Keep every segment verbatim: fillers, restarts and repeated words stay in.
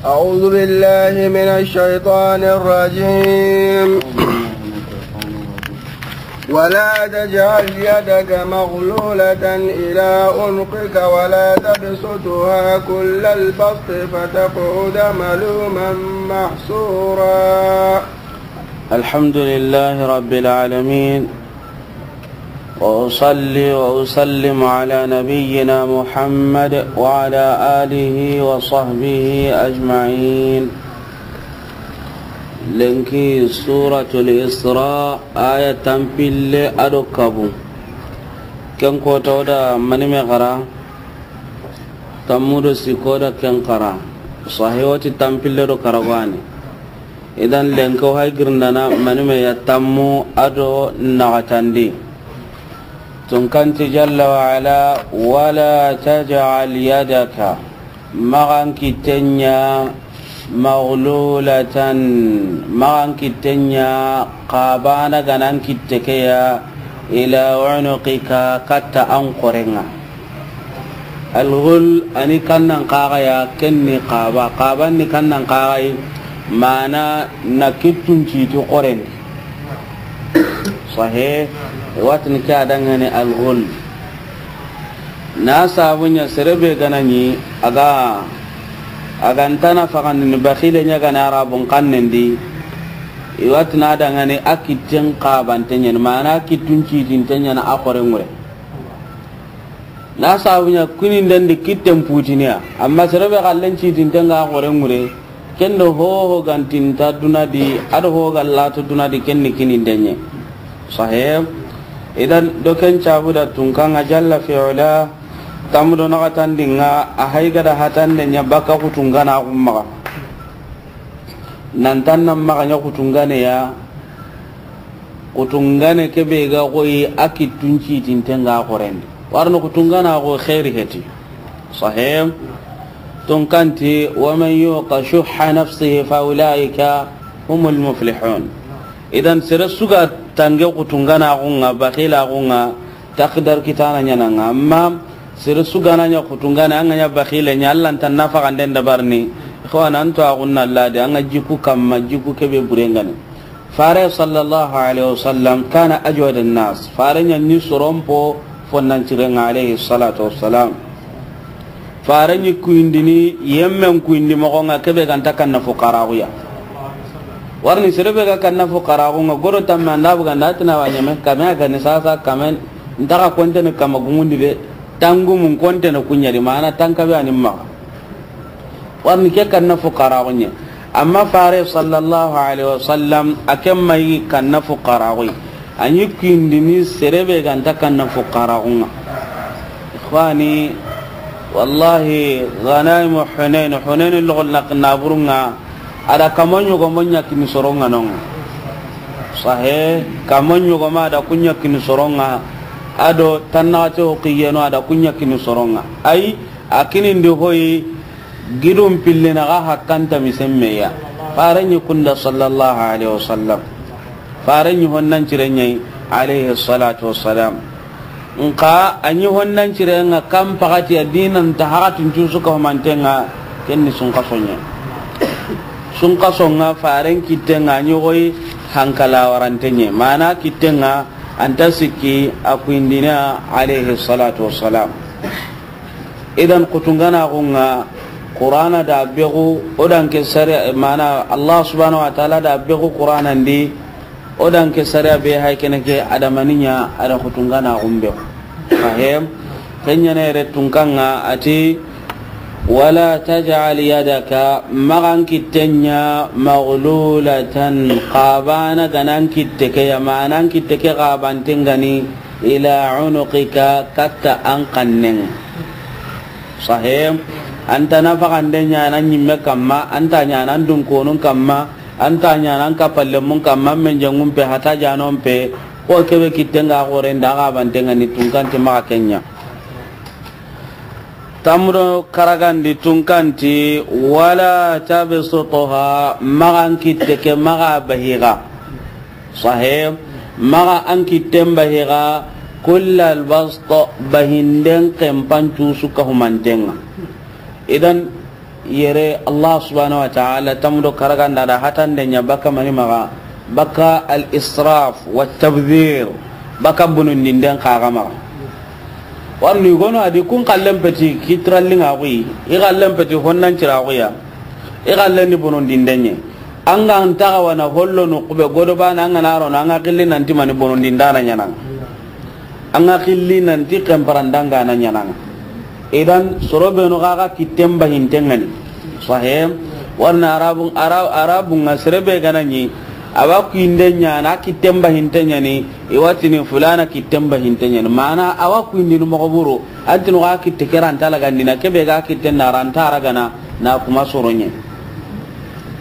أعوذ بالله من الشيطان الرجيم. ولا تجعل يدك مغلولة إلى عنقك ولا تبسطها كل البسط فتقعد ملوما محسورا. الحمد لله رب العالمين، وأصلي وأسلم على نبينا محمد وعلى آله وصحبه أجمعين. Lenki Suratul Isra, aya tanpille a do kabu. Ken kota o da mani me xara, tammu do sikko da ken xara. Sahi o ti tanpille do karagani. Idan lenki o hay girindana mani me ya tammu a do naxatandi. Tunkanti jalla wa ala, wala taj'al yadaka, maxan kitten ɲa, maghlulatan, maxan kitten ɲa, xabana ga na an kitte ke ya, ila unuqika, katta an xoren ŋa. Alghul a ni kannan xaxa ya, ken ni xaba, xaban ni kannan xaxa yi, mana na kittun citi xoren di. Sahe, i wa tini ke a danŋa ni alghul. Na sabu ɲa sere be ga na ɲi, a ga, a ga nta na faxandini, bakhile ɲa ga na Arabun xannen di, i wa tini a danŋa ni a kitten xabante ɲa ni, mana a kittun citinte ɲa na a xoren ŋure. Na sabu ɲa kininden di kitten putiniya, amma sere be xallen citinten ga xoren ŋure, ken do hoho ga nta duna di, a do hoho ga lato duna di, ken ni kininden ɲa. Sahe, idan do ken cabu da tunkan ŋa jalla fi ula, tammu do naxatandi ŋa, a hay ga da hatande ɲa baka kutungana xumma. Nan tan nan maxa ɲa kutungane ya, kutungane ke be ga xoyi a kittun citinten ga xoren di. Warno kutungana xo xeeri heti. Sahe. Tunkanti, wa man yuqa shuhha nafsihi fa ulaika humul muflihun. Idan sere su ga tange kutungana xunŋa, bakhila xunŋa, takdar kitana ɲa na ŋa. Amma sere su ga na ɲa kutungane, an ga ɲa bakhile ɲa, Allah nta na faxanden dabarini. Xo a na an to a xunna Allah de, an ga jiku kamma, jiku ke be burengane. Fare sallallahu alaihi wasallam kana ajwad an-nas. Fare ɲa ni soron po fonnan cirenŋa alaihi salatu wassalam. Fare ɲi kuyindini, yemmen kuyindi moxo ŋa, ke be ga nta kanna fuqaraxu ya. Warni sere be ga kanna fuqaraxu ŋa, goro tamme an da buga nda tina wa ɲeme, kame a ga ni sasa, kame nta xa kontene kama gumundi de, tangumun kontene ku ɲa di, mana tanka be a ni maxa. Warni ke kanna fuqaraxu ɲa. Amma Fare sallallahu alaihi wasallam, a ke ma yi kanna fuqaraxu yi. A ɲi kuyindini sere be ga nta kanna fuqaraxu ŋa. Ikhwani, wallahi, ghanaimu Hunain, Hunain loxol na, naburu ŋa, a da kamo ɲogomo ɲa kini soron ŋa no ŋa. Sahe, kamo ɲogomo a da ku ɲa kini soron ŋa, a do tannaxate ho xiyeno a da ku ɲa kini soron ŋa. Ay, a kinindi hoyi, gidun pillina ga hakkanta misemmeya. Fare ɲi kunda sallallahu alaihi wasallam. Fare ɲi honnan cire ɲa yi, alaihi salatu wassalam. Nka a ɲi honnan cire ŋa kan paxati a dinan ta haxatin cusu ka humanten ŋa, ken ni sunkaso ɲa. Sunkaso ŋa faren kitten ŋa a ɲi xoyi hankala warante ɲa. Mana kitten ŋa an ta sikki a kuyindina, alaihi salatu wassalam. Idan kutungana xunŋa, Qur'ana da bexu, o dan ke sariya, mana Allah subhanahu wa ta'ala da bexu Qur'ana ndi, o dan ke sariya be hay kene ke adamaniya a da kutungana xunbe. Fahem? Ken ɲa ne re tunkan ŋa a ti, wala taj'al yadaka, maxan kitten ɲa, maghlulatan, xabana ga na an kitte ke ya, mana an kitte ke xabanten ga ni, ila unuqika, katta an xannen ŋa. Sahe, an ta na faxande ɲa na ɲimme kamma, an ta ɲa na an dunkonun kamma, an ta ɲa na an kapallemun kamma, men jangun pe, hata janon pe, ko ke be kitten ga xoren da xabanten ŋa ni tunkanti maxa ken ɲa. Tammu do karagandi tunkanti, wala tabsutha, maxan kitte ke maxa bahi ga. Sahe, maxa an kitten bahi ga, kullal bast, bahinden kempan cusu ka humanten ŋa. Idan, Yere Allah subhanahu wa ta'ala tamudo karaganda da hatande ɲa baka mani maxa, baka al-israf wa tabdhir, baka bonondinden xaxa maxa. Warni gono a di kun xallen peti kitirallinŋa xuyi, i xallen peti honnan cira xuya, i xallen ni bonondinden ɲe. An ga nta xawana hollo no xube godo bana an ga na rono an ga xilli nanti mani bonondindana ɲananga. An ga xilli nanti xenparandangana ɲananga. Idan soro benu xaxa kitten bahinten ŋa ni. Sahe. Warna arabun, ara-, arabun ŋa sere be ga na ɲi, a wa kuyinden ɲa na kitten bahinte ɲa ni, i wa tini fulana kitten bahinte ɲa ni. Mana a wa kuyindini moxo buru, an tini xa kitte ke ra nta lagandini, kebe ga kitten na ra nta ragana, na kuma soro ɲe.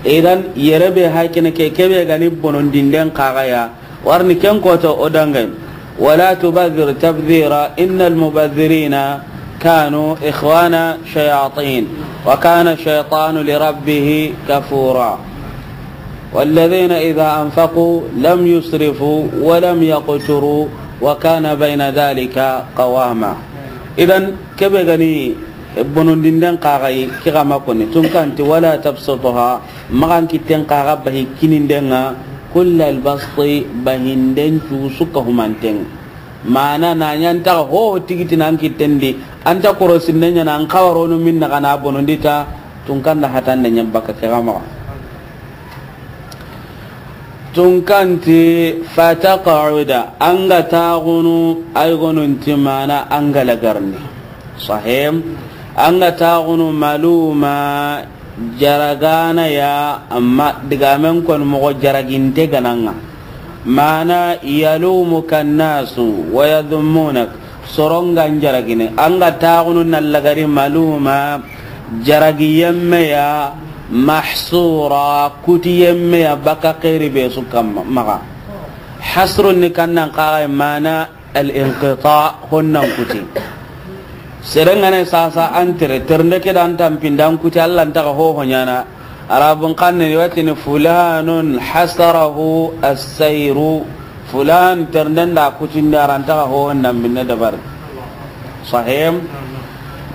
Idan yere be hay kene ke, kebe ga ni bonondinden xaxa ya, warni ken koto o dange. ولا تبذر تبذيرا إن المبذرين كانوا إخوان شياطين وكان الشيطان لربه كفورا والذين إذا أنفقوا لم يسرفوا ولم يقتروا وكان بين ذلك قواما. Idan kebe ga ni bonondinden xaxa yi, ke ga ma koni, tun kanti ولا تبسطها, maxa an kitten xaxa bahi kinindenŋa, كل البسط, bahinden cusu ka humanten. Mana na ɲa nta ho tigitina an kitten di, an ta korosinde ɲa na an xawarono minna xa na bonondi ta, tun kanda hatande ɲa baka ke ga maxa. Tun kanti فتقعد, an ga taxunu, ay gonunti mana an ga lagarni. Sahe. An ga taxunu ملوما, jaragana ya, amma digamen kon moxo jaraginte gananga. Mana يلومك الناس ويذمونك, sorongan jaragine. An ga taxunu na lagari ملوما, jaragi yemme ya, محسورا, kuti yemme ya, baka xeri be su kamma, maxa. Hasrun ni kannan xaxa mana الانقطاع, honnan kuti. Serengane sasa an tere, ternde ke dan tampindan kuti, Allah nta ga hoho ɲana. Arabun xanne ni wa tini فلان حسره السير. Fulan ternden da kutindi, a ra nta ga hoho nan minne dabari. Sahe.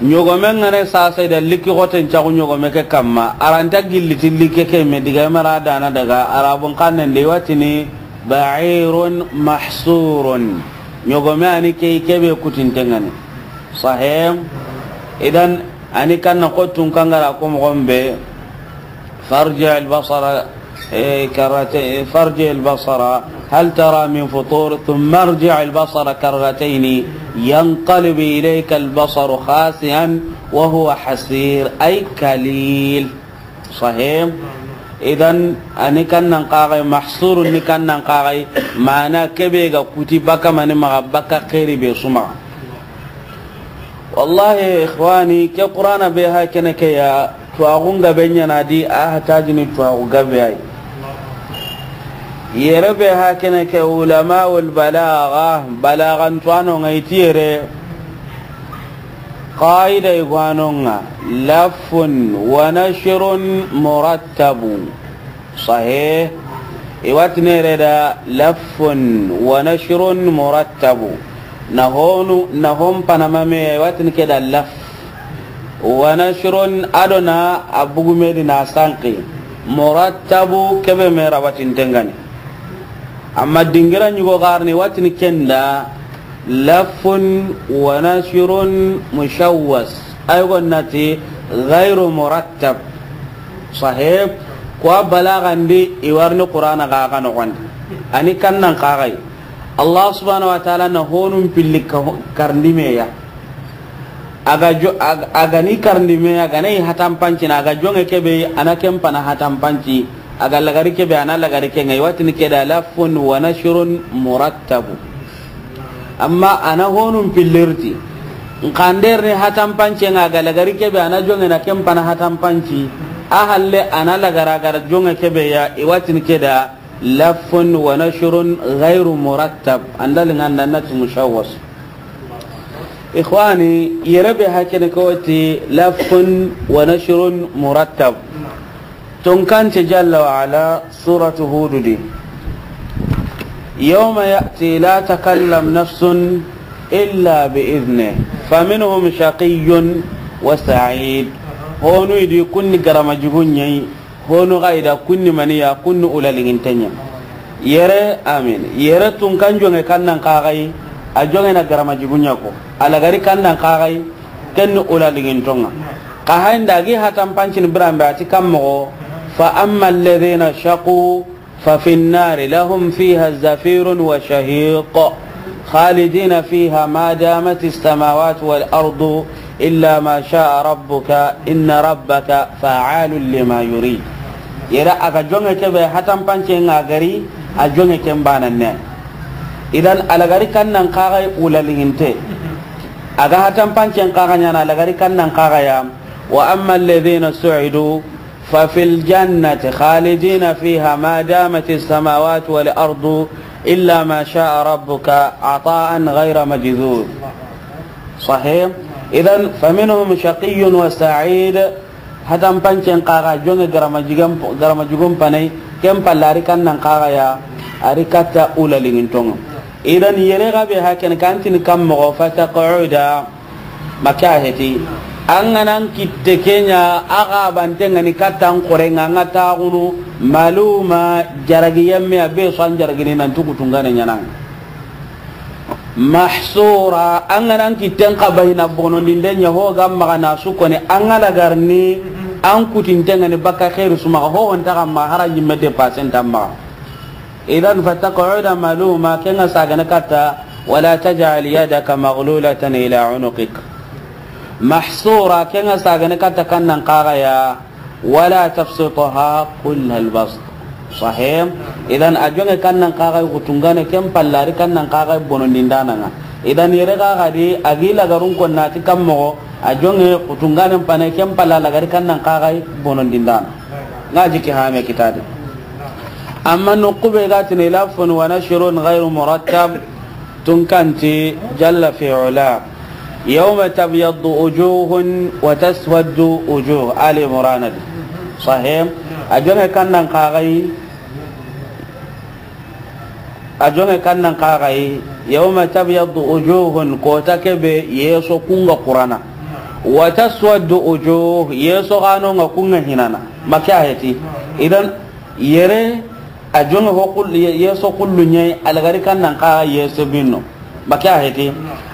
Ɲogomen ŋa ne sasa i da likki xoten caxu ɲogome ke kamma, a ra nta gilli ti likke ke me diga mara dana daga, arabun xanne ndi wa tini بعير محصور. Ɲogome a ni ke, kebe kutinten ŋa ni. Sahe. Idan a ni kanna xottun kangara ko moxon be. فارجع البصر، إيه، كرتين، فارجع البصر هل ترى من فطور، ثم ارجع البصر كرتين ينقلب إليك البصر خاسئا وهو حسير، أي كليل. Sahe. Idan, a ni kannan xaxay, mahsuru ni kannan xaxay, mana kebe ga kuti baka mani maxa, baka xeri be su maxa. Wallahi, ikhwani, ke Qur'ana be ha kene ke ya, tuwaxun gabe ɲana di, a hatajini tuwaxu gabe ay. Yere be ha kene ke, ulamaul balagha, balaghan tuwano ŋa i ti yere, qaida i gwano ŋa, لف ونشر مرتب. Sahe, i wa tini yere da لف ونشر مرتب. Na honu, na hon panama me, i wa tini ke da لف. ونشر, a do na a bugume di na sanki. مرتب, kebe me rawatinten ŋa ni. Amma dingira ɲugo garni wa tini ken da لف ونشر مشوش. Ay gonnati غير مرتب. Sahe, ko a balagandi i warni Qur'ana ga ga noxondi. A ni kannan xaxay. Allah subhanahu wa ta'ala na honun pilli ka-, karndi me ya. A ga jo-, a ga, a ga ni karndi me ya, a ga na i hatanpanci na, a ga jonge kebe, a na ken pana hatanpanci, a ga lagari kebe, a na lagari ke ŋa, i wa tini ke da لف ونشر مرتب. Amma a na honun pillirti. Nkanderni hatanpance ŋa, a ga lagari kebe, a na jonge na ken pana hatanpanci. A halle a na lagara, a ga jonge kebe ya, i wa tini ke da لف ونشر غير مرتب. Andali ŋa nda na ti مشوش. Ikhwani, yere be ha kene ke wa ti لف ونشر مرتب. Tonkance jalla wa ala, suratu Hudu di. يوم يأتي لا تكلم نفس إلا بإذنه فمنهم شقي وسعيد. Honu i di kunni garama jugu ɲa yi, honu ga i da kunni mani ya, kunni ula liŋinten ɲa. Yere, amin. Yere tunkan joŋe kannan kaxayi, a joŋe na garama jugu ɲa ko. A lagari kannan kaxayi, kenni ula liŋinton ŋa. Xa hayi nda gi hatan pancini biranbe a ti kan moxo, فأما الذين شقوا ففي النار لهم فيها زفير وشهيق خالدين فيها ما دامت السماوات والأرض إلا ما شاء ربك إن ربك فعال لما يريد. Yere a ga joŋe ke be hatan pance ŋa gari, a joŋe ken banan ne. Idan a lagari kannan kaxayi ula liŋinte. A ga hatan pancen kaxa ɲaana a lagari kannan kaxaya. وأما الذين سعدوا ففي الجنة خالدين فيها ما دامت السماوات والأرض إلا ما شاء ربك عطاء غير مجذوذ. صحيح؟ إذن فمنهم شقي وسعيد. Hatan pancen kaxa joŋe garama jigan, garama jugun panay, ken palla a ri kannan kaxaya, a ri katta ula liŋinton ŋa. Idan yere ga be haken kantini kan moxo, فتقعد. Maka heti. An ga nan kitte ke ɲa, a ga banten ŋa ni kattan xoren ŋa, an ga taxunu, maluma, jaragi yemme, a be su an jaragini nan ti kutungane ɲaana. Mahsura, an ga nan kitten xa bahina bonondinden ɲa ho ga maxa na su koni, an ga lagarini, an kutinten ŋa ni bakka xeeri su maxa, ho ho nta xa maxa, hara ɲimme de pasen ta maxa. Idan فتقعد ملوما, ken ŋa sagana katta, ولا تجعل يدك مغلولة إلى عنقك. Mahsura, ken ŋa sagana katta kannan kaxaya, ولا تبسطها كل البسط. Sahih? Idan a joŋe kannan kaxayi kutungane, ken palla a ri kannan kaxayi bonondindana ŋa. Idan yere kaxa di a gi lagarun konna ti kan moxo, a joŋe kutunganen panay, ken palla a lagari kannan kaxayi bonondindana. Ŋa jiki hame kitadi. Amma noqu be ga tini lafun wa nashrun ghayru murattab, tunkanti jalla fi ula. Yawma tabyaddu wujuhun wa taswaddu wujuh. Ali Imran di. Sahih. A joŋe kannan kaxayi. A joŋe kannan kaxayi. Yawma tabyaddu wujuhun, kota ke be yeso kun ga kurana. Wa taswaddu wujuh, yeso xano ŋa kun ga hinana. Maka heti. Idan yere a joŋe ho kul-, ye-, yeso kullu ɲa yi, a lagari kannan kaxa yeso binno. Maka heti.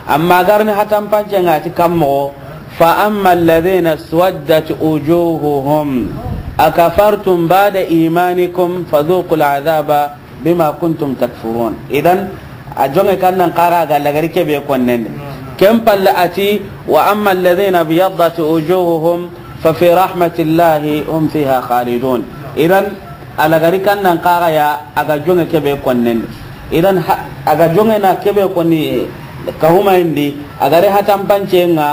Amma garni hatan pancen ŋa ti kan moxo, فأما الذين اسودت وجوههم أكفرتم بعد إيمانكم فذوقوا العذاب بما كنتم تكفرون. Idan a joŋe kannan kaxa ga lagari ke be konnen di. Ken palle a ti, وأما الذين ابيضت وجوههم ففي رحمة الله هم فيها خالدون. Idan a lagari kannan kaxaya a ga joŋe ke be konnen di. Idan ha-, a ga joŋe na ke be konni kahumayindi, a gari hatan pancen ŋa,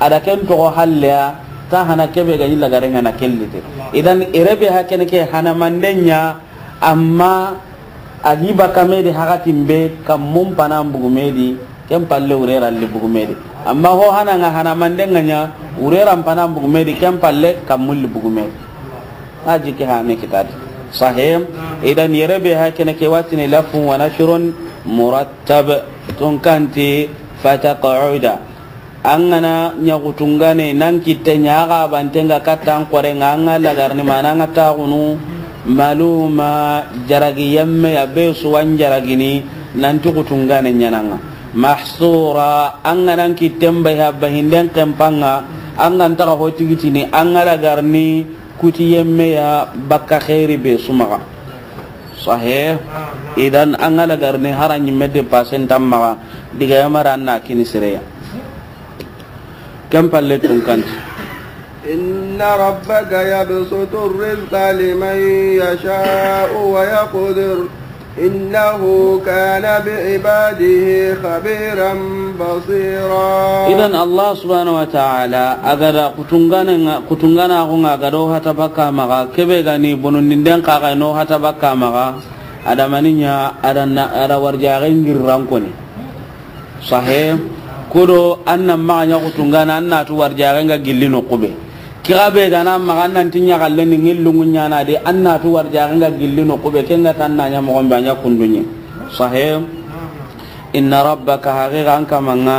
a da ken toxo halleya, ta hana ke be ga ɲi lagaren ŋa na kellite. Idan ere be hakene ke hana manden ɲa, amma a gi bakka me di hakatin be, kammun panan bugu me di, ken palle wure ralli bugu me di. Amma ho hana ŋa hana manden ŋa ɲa, wure ran panan bugu me di, ken palle kammun li bugu me di. A jiki hame kitadi. Sahih. Idan yere be hakene ke watini lafun wa nashrun murattab, tunkanti فتقعد. An ga na ɲa kutungane nan kitte ɲa, a ga banten ŋa kattan xoren ŋa, an ga lagarni mana an ga taxunu, maluma, jaragi yemme ya be su wa an jaragini, nan ti kutungane ɲaana ŋa. Mahsura, an ga nan kitten bahi a bahinden kempan ŋa, an ga nta xa ho tigitini, an ga lagarni kuti yemme ya bakka xeeri be su maxa. Sahih. Idan an ga lagarni hara ɲimme de pasen ta maxa, diga yamara an na kini sireya. Ken palle tunkanti. إن ربك يبسط الرزق لمن يشاء ويقدر إنه كان بعباده خبيرا بصيرا. Idan Allah subhanahu wa ta'ala a ga da kutungana ŋa, kutungana xo ŋa ga do hata bakka maxa, ke be ga ni bonondinden kaxa no hata bakka maxa, a da mani ɲa, a da na, a da warjaxen girran koni. Sahih. Kudo an na maxa ɲa kutungana, an na tu warjaxen ga gilli noqu be. Kixa be ga na maxa an nan ti ɲaxalle ni ŋillungu ɲaana de, an na tu warjaxen ga gilli noqu be, ken ga tan na ɲa moxon be a ɲa kundunye. Sahih. Inna rabbaka, haqiqa an kaman ŋa,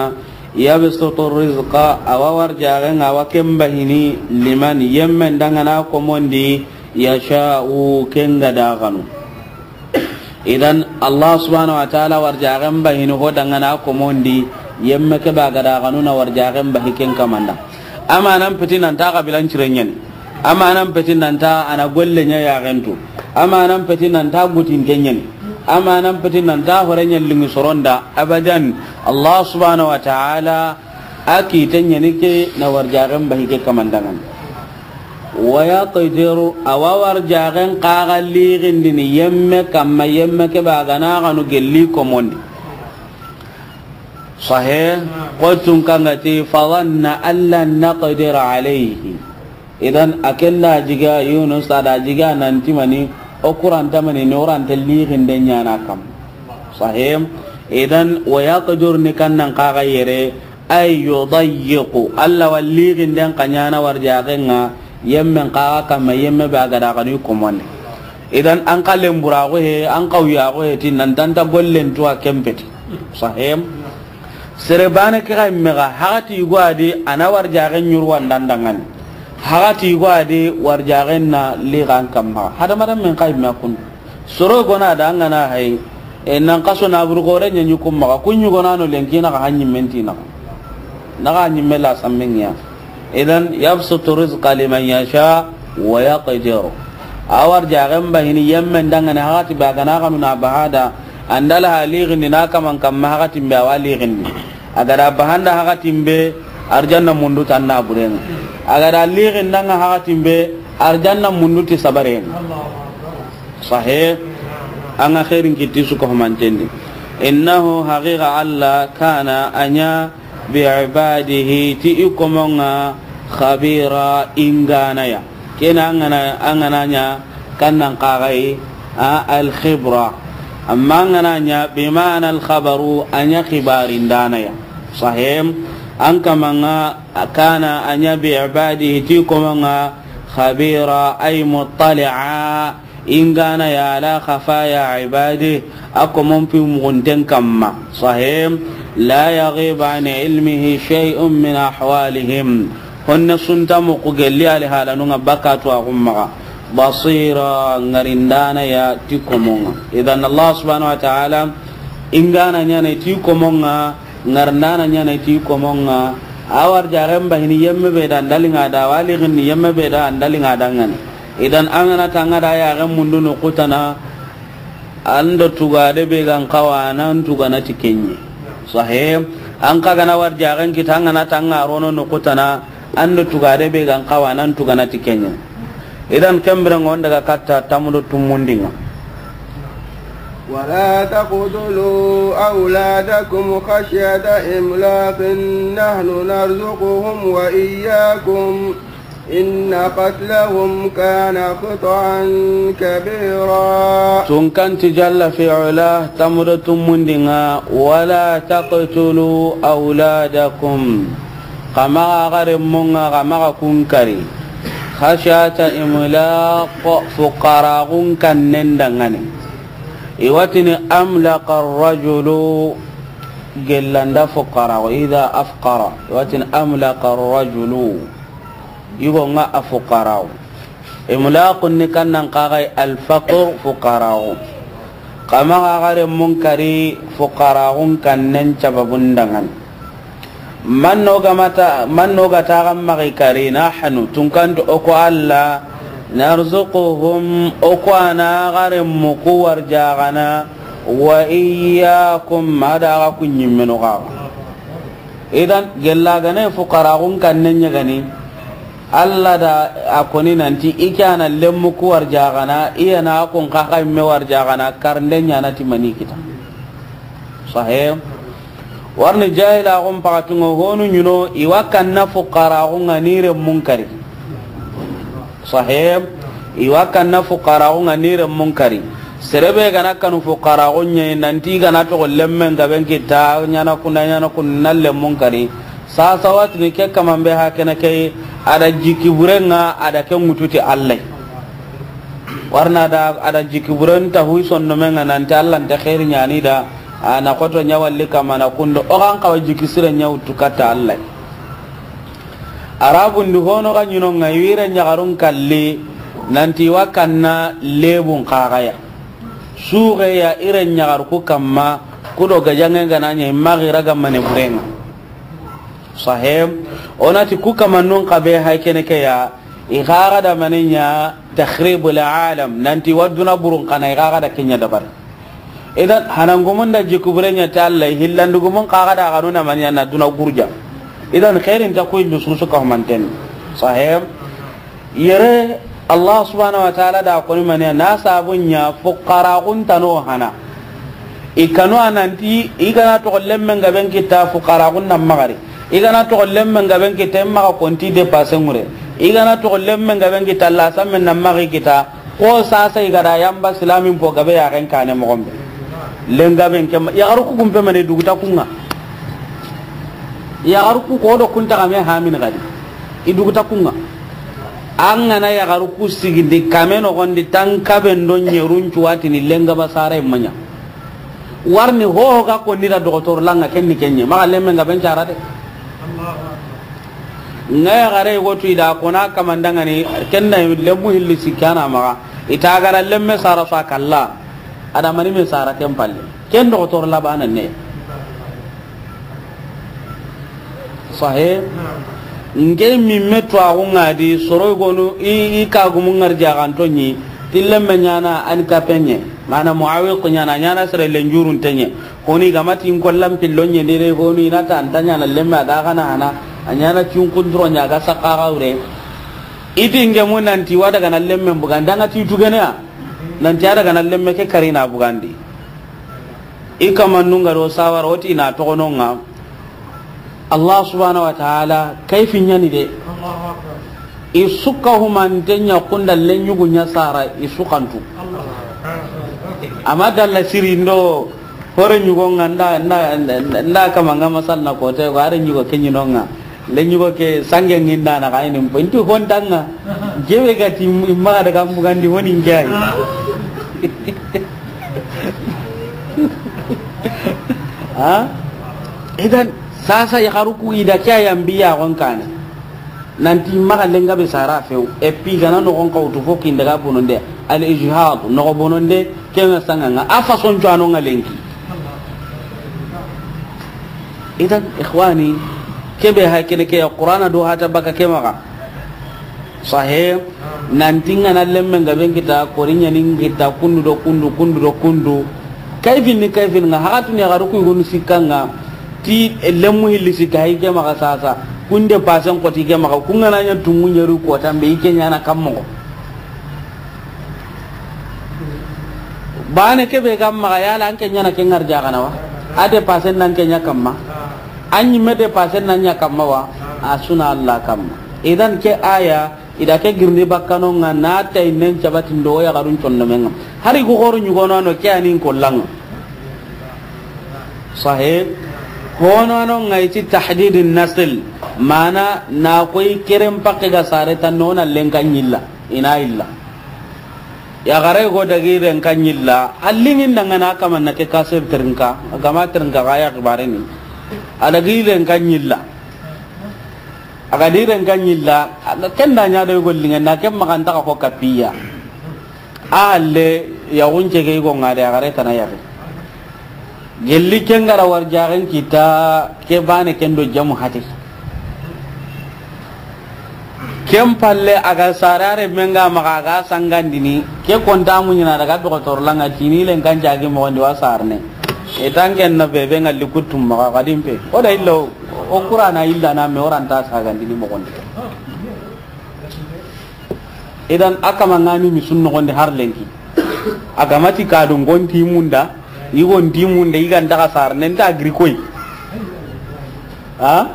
يبسط الرزق, a wa warjaxen, a wa ken bahini, لمن, yemmen da ŋa na komondi, يشاء, ken ga da xanu. Idan, Allah subhanahu wa ta'ala warjaxen bahini ho da ŋa na komondi, yemme ke ba ga da xanu na warjaxen bahi ken kaman da. Amanan peti nan ta xabilan cire ɲa ni. Amanan peti nan ta a na golle ɲa yaxen tu. Amanan peti nan ta gutinte ɲa ni. Amanan peti nan ta hore ɲa liŋi soron da. Abadan, Allah subhanahu wa ta'ala a kite ɲa ni ke na warjaxen bahi ke kaman da ŋa ni. ويقدر, a wa warjaxen xa ga lixindini yemme kamma, yemme ke ba ga na xanu gelli komondi. Sahe, ko tun kan ga ti, فظن أن لن نقدر عليه. Idan, a ken da jiga Yunus, a da jiga nan ti mani, o kuranta mani, ni o ranta lixinden ɲa na kam. Sahe, idan, ويقدر ni kan nan xa ga yere, أي يضيق, Allah wa lixinden xa ɲa na warjaxen ŋa, yemmen xa ga kamma, yemme be a ga da xanu i komondi. Idan, an xa lenburaxu he, an xawuyaxu he ti nan ta nta gollen tu a ken peti. Sahe. Sere bane ke ga yimme ga, haxati yugo a di, a na warjaxen ɲuru wanda nda ŋa ni. Haxati yugo a di, warjaxen na lixan kamma. Hadamarenmen xa yimme a kun. Soro gona da an ga na hay, e, nan xaso na buru gore ɲa ɲi kun maxa, kun ɲugona no lenki na xa hanyi menti na xa. Na xa hanyi mela sammengiya. Idan, يبسط الرزق لمن يشاء ويقدر. A warjaxen bahini yemmen da ŋa ni, haxati ba ga na xanu na bahada, an da la ha lixindi na kaman kamma haxatin be a wa lixindi. A ga da bahanda haxatin be, arjanna mundu tan na buren ŋa. A ga da lixinda ŋa haxatin be, arjanna mundu ti sabaren ŋa. Sahe, an ga xeerin kitti su ko humantendi. إنه, haqiqa Allah, كان, a ɲa, بعباده, ti i komon ŋa, خبيرا, i ŋana ya. Ken an ga na, an ga na ɲa kan nan xa ga yi, a, الخبرة. Amma an ga na ɲa بمعنى الخبر, a ɲa xibarindaana ya. Sahe, an kaman ŋa, كان, a ɲa, بعباده, ti i komon ŋa, خبيرا, أي مطلعا, i ŋana ya على خفايا عباده, a komon pi muxunten kamma. Sahe, لا يغيب عن علمه شيء من أحوالهم. Honne su nta muxu gelli alihaalanun ŋa bakatu a xun maxa. بصيرا, ŋarindaana ya ti komon ŋa. Idan, Allah subhanahu wa ta'ala, i ŋana ɲa na ti komon ŋa, ŋarindaana ɲa na ti komon ŋa. A warjaxen bahini yemme be da an da liŋa da, a wa lixindi yemme be da an da liŋa da ŋa ni. Idan, an ga na tanga da yaxen mundu noqu tana, an do tugade be ga n xawa nan tugana ti ken ɲa. Sahe, an xa ga na warjaxen kita, an ga na tanga rono noqu tana, an do tugade be ga n xawa nan tugana ti ken ɲa. Idan, ken biren ŋa o n daga katta tamudo tumundi ŋa. ولا تقتلوا أولادكم خشية إملاق نحن نرزقهم وإياكم إن قتلهم كان خطأ كبيرا. Tunkanti jalla fi ula, tamudo tumundi ŋa, ولا تقتلوا أولادكم. Xa maxa xa renmun ŋa, xa maxa kun kari. خشية إملاق, fuqaraxun kannen da ŋa ni. I wa tini أملق الرجل, gellanda fuqaraxu, إذا أفقر. I wa tini أملق الرجل. Yugo ŋa a fuqaraxu. Imlaqun ni kan nan xa ga yi الفقر, fuqaraxu. Xa maxa xa renmun kari, fuqaraxun kannen sababun da ŋa ni. Man no ga mata, man no ga ta ga maxa i kari, نحن, tunkanti o ko Allah, نرزقهم, o ko a na xa renmu ku warjaxana, وإياكم, a da xa ku ɲimmenu xa. Idan, gella ga na fuqaraxun kannen ɲa ga ni, Allah da a koni nanti i ke a na lenmu ku warjaxana, i ya na kun xa xa yimme warjaxana, karinde ɲa na ti mani kita. Sahe. Warni jahilaxun paxatun ŋa honu ɲi no, i wa kanna fuqaraxun ŋa ni renmun kari. Sahe. I wa kanna fuqaraxun ŋa ni renmun kari. Sere be ga na kanu fuqaraxun ɲa yi, nanti ga na toxo lenmen gaben kita, ɲa na kunda, ɲa na kunda, na lenmun kari. Sasa wa tini ke kaman be ha kene ke, a da jiki buren ŋa, a da ke ŋutu ti Allah. Warna da, a da jiki buren ta hu i sondomen ŋa nanti Allah nta xeeri ɲa ni da, A na xoto ɲa walli kamana kundo, o xa n xawa jiki sire ɲa wuttu katta Allah. Arabun di hono ga ɲi no ŋa, i wi ren ɲaxarun kalli, nanti wa kanna lebun xaxaya. Suxe ya i ren ɲaxar ku kamma, ku do gajaŋe ga na ɲa, i ma xira ga mane burenŋa. Sahem, o na ti ku kamannun xa be hay kene ke ya, i xaxa da mane ɲa takhribul alam, nanti wa duna burun xana, i xaxa da ke ɲa dabari. Idan, hanangumun da jikubure ɲa ta Allah, hillandugumun xaxa da xanu na mane ɲa na duna gurja. Idan, xairin ta ku illu susu ka humanten. Sahem, yere Allah subhanahu wa ta'ala da koni mane na sabun ɲa fuqara kun tano hana. I kanu a nanti, i ga na toxo lemmen gaben kita fuqara kun nan maxari. I ga na toxo lemmen gaben kita, i maxa konti dépassé ŋure. I ga na toxo lemmen gaben kita, la sammen nan maxi kita. Ko sasa i ga da yamba silamin po gabe ya ken kane moxon be. Lengaben ke ma, yaxaru ku kumpe mane duguta kunŋa. Yaxaru ku ko do kunta kame hamin gadi. I duguta kunŋa. An ga na yaxaru ku sigindi kame noxon di tan kaben do ɲerun cuwatini lenga ba sara i ma ɲa. Warni hoho ga konni da doxotor lanŋa ken ni ke ɲe. Maxa lemmen gaben cara de. Ŋa yaxare go tu i da kona kamandangani, ken da lemmu hilli sikkana maxa. I ta gara lemme sara so a kalla. A da mani me sara ken palle. Ken doxotor labana ne. Sahe. Nke mimme tuwaxu ŋa di, soro gonu, i, i kagumu ŋari jaxanto ɲi, ti lemme ɲana an kapenɲe, mana muawiq ɲana, ɲana sere lenjurunte ɲe, koni gamati in kollan pillo ɲe, dede gonu, i na ta anta ɲana lemme a da xana hana, a ɲana cunkunduro ɲa ga saxaxa wure. I ti ngemu nanti wa daga na lemme bugandi, an ga ti tugene ya, nanti a daga na lemme ke karina bugandi. I kamannun ga do sawara, o ti na toxono ŋa. Allah subhanahu wa ta'ala, kayfi ɲani de. I su ka humante ɲa kunda lenyugu ɲa sara, i su kantu. Amma dalla siri ndo, hore ɲugo ŋa nda, nda, nda, nda kama ŋa masal na kote, ko are ɲugo ke ɲi no ŋa. Lenyugo ke sange ŋinda na kayini mpo. Inti hontanŋa. Jebe ga ti maxa daga mbugandi honi ngai. Ha? Idan, sasa yaxaru ku i da ke ya yambi ya gon kana. Nanti maxa lenga be sara few. Et puis gana no gon kawtu fo kin daga bononde. Al ijhad, no bononde, ke na sanga ŋa. A façon cuano ŋa lenki. Idan, ikhwani, kebe ha kene ke ya Qur'ana do hata baka ke maxa. Sahe, nanti ŋa na lemme nga ben kita, kori ɲani kita, kundu do kundu, kundu do kundu. Kayfin ni kayfin ŋa, haxatun yaxaru ku gonu sikka ŋa, ti lemmu hilli sikka hay ke maxa sasa. Kunde pasen koti ke maxa, ku ŋa na ɲa tungu ɲeru ko tambe, i ke ɲana kammo. Bane kebe ga maxa yala an ke ɲana ke ŋari jaxana wa? A dépassé nan ke ɲa kamma. An ɲi me dépassé nan ɲa kamma wa? A suna Allah kamma. Idan ke aya, i da ke girindi bakkano ŋa na tay nen cabati ndo ya garun conno menga. Hari go goro ɲugono no ke anin kollang. Sahe. Hono no ŋa i ti tahdidin nasl. Mana na koy keren pakke ga sare tan no na lenka ɲilla. Ina illa. Yaxare go dagi renka ɲilla, a lingin dangana kamanna ke kasir terinka, a gama terinka ga ya xibareni. A dagi renka ɲilla. A ga di renka ɲilla, a ga ken da ɲa do go lingen na ken maxa nta xa ko kapiya. A halle yaxun cege go ŋa de yaxare tana yaxi. Gelli ken gara war jaxen kita ke bane ken do jamu hati. Ken palle a ga sarare menga maxa a ga sangandini ke konta muɲina daga doxotor langa tini len kan jagi moxondi wa sarne. Etan ken na bebe ngalli kuttum maxa xadin pe. O da illo o Qur'ana illa na me oranta sagandini moxondi. Idan a kama ŋani mi sun noxondi har lenki. A gamati kadu ngonti munda, i gonti munda, i ganta xa sar nenta agrikoy. Ha?